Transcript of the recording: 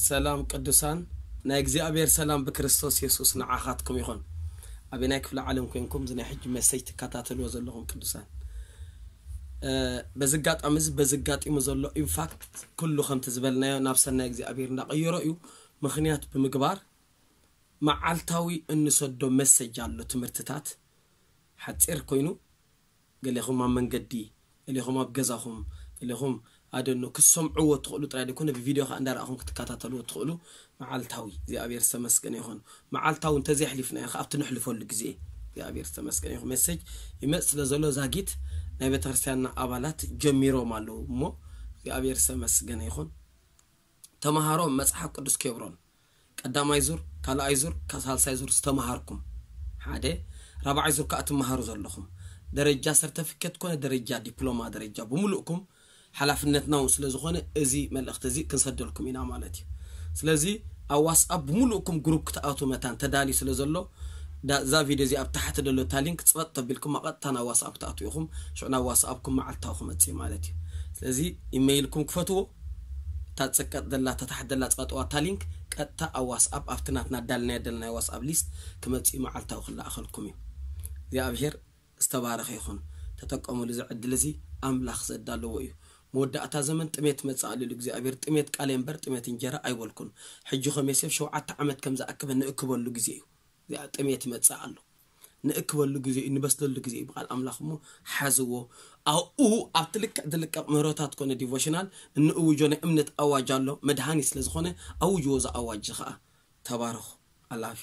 ሰላም ቅዱሳን፣ ናይ እግዚኣብሔር ሰላም ብክርስቶስ የሱስ ንዓኻትኩም ይኹን። ኣበናይ ክፍለ ዓለም ኮንኩም እዚ ናይ ሕጂ መሰጅ ትከታተልዎ ዘለኹም ቅዱሳን፣ በዚ ኣጋጣሚ እዚ በዚ ኣጋጢሙ ዘሎ ኢንፋክት ኩሉ ከምቲ ዝበልናዮ ናብ ሰናይ እግዚኣብሔር እንዳቐየሮ እዩ። ምኽንያት ብምግባር መዓልታዊ እንሰዶ መሰጅ ኣሎ፣ ትምህርትታት ሓፂር ኮይኑ ገሌኹም ኣብ መንገዲ፣ ገሌኹም ኣብ ገዛኹም፣ ገሌኹም ኣደኖ ክትሰምዕዎ ትኽእሉ ጥራይ ደይኮነ ብቪድዮ ከዓ እንዳረኣኹም ክትከታተልዎ ትኽእሉ። መዓልታዊ እግዚኣብሔር ዝተመስገነ ይኹን። መዓልታዊ እንተዘይሕሊፍናዮ ከዓ ኣብቲ ንሕልፈሉ ግዜ እግዚኣብሔር ዝተመስገነ ይኹን። መሰጅ ይመፅ ስለ ዘሎ ዛጊት ናይ ቤተክርስትያንና ኣባላት ጀሚሮም ኣለዉ እሞ እግዚኣብሔር ዝተመስገነ ይኹን። ተምሃሮ መፅሓፍ ቅዱስ ኬብሮን ቀዳማይ ዙር፣ ካልኣይ ዙር፣ ሳልሳይ ዙር ዝተምሃርኩም ሓደ፣ ራብዓይ ዙር ከዓ ትምሃሩ ዘለኹም ደረጃ ሰርተፊኬት ኮነ ደረጃ ዲፕሎማ ደረጃ ብምሉእኩም ሓላፍነትና እውን ስለ ዝኾነ እዚ መልእኽቲ እዚ ክንሰደልኩም ኢና ማለት እዩ። ስለዚ ኣብ ዋትስኣፕ ብምሉእኩም ግሩፕ ክትኣትዉ መታን ተዳልዩ ስለ ዘሎ እዛ ቪድዮ እዚ ኣብ ታሕቲ ዘሎ እታ ሊንክ ፅበጥ ተቢልኩም ቀጥታ ናብ ዋትስኣፕ ክትኣትዉ ኢኹም። ሽዑ ናብ ዋትስኣፕኩም መዓልታዊ ክመፅእ ማለት እዩ። ስለዚ ኢመይልኩም ክፈትዎ፣ እታ ፅቀጥ ዘላ እታ ታሕቲ ዘላ ፅቀጥዋ እታ ሊንክ ቀጥታ ኣብ ዋትስኣፕ ኣብቲ ናትና ዳልናዮ ደለናዮ ዋትስኣፕ ሊስት ክመፅእ መዓልታዊ ክለኣኸልኩም እዩ። እግዚኣብሔር ዝተባረኸ ይኹን። ተጠቀሙሉ እዚ ዕድል እዚ ኣምላኽ ዘዳለዎ እዩ። መወዳእታ ዘመን ጥሜት መፅእ ኣሎ ኢሉ እግዚኣብሔር። ጥሜት ቃል እምበር ጥሜት እንጀራ ኣይበልኩን። ሕጂ ከም ዮሴፍ ሸውዓተ ዓመት ከም ዝኣክበ ንእክበሉ ግዜ እዩ። እዚኣ ጥሜት ይመፅእ ኣሎ። ንእክበሉ ግዜ እዩ፣ ንበስለሉ ግዜ እዩ። ብቃል ኣምላኽ እሞ ሓዝዎ። ኣብኡ ኣብቲ ልክዕ ዝልቀቕ ምህሮታት ኮነ ዲቮሽናል እንእውጆ ናይ እምነት ኣዋጅ ኣሎ። መድሃኒ ስለ ዝኾነ ኣውጅዎ። እዚ ኣዋጅ ከዓ ተባረኹ። ኣላፍ